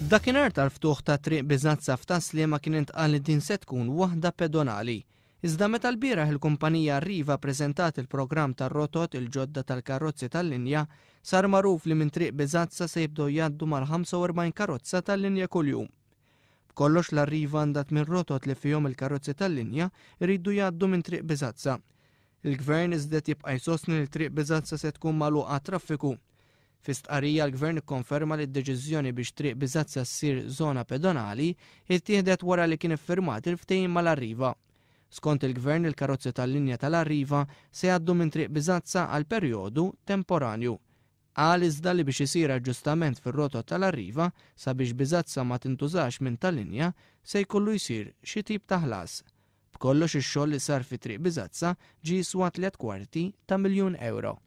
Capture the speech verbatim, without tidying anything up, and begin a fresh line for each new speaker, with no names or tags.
Dakinhar tal-ftuħ ta' Triq Biżazza f'Tas-Sliema kien intqal li din se tkun waħda pedonali. Iżda meta lbieraħ il-kumpanija Arriva ppreżentat il-programm tar-rotot il-ġodda tal-karozzi tal-linja, sar magħruf li minn Triq Biżazza se jibdew jgħaddu mal-ħamsa u erbgħin karozza tal-linja kuljum. B'kollox l-Arriva għandha tmien rotot li fihom il-karozzi tal-linja jridu jgħaddu minn Triq Biżazza. Il-Gvern iżda jibqa' jsostni li Triq Biżazza se tkun magħluqa għat-traffiku. Fi stqarrija l-Gvern ikkonferma li d-deċiżjoni biex Triq Biżazza ssir żona pedonali ittieħdet wara li kien iffirmat il-ftehim mal-Arriva. Skont il-Gvern, il-karozzi tal-linja tal-Arriva se jgħaddu minn Triq Biżazza għal perjodu temporanju. Qal iżda li biex isir aġġustament fir-rotot tal-Arriva sabiex Biżazza ma tintużax minn tal-linja se jkollu jsir xi tip ta' ħlas. B'kollox ix-xogħol li sar fi Triq Biżazza ġie jiswa tliet kwarti ta' miljun euro.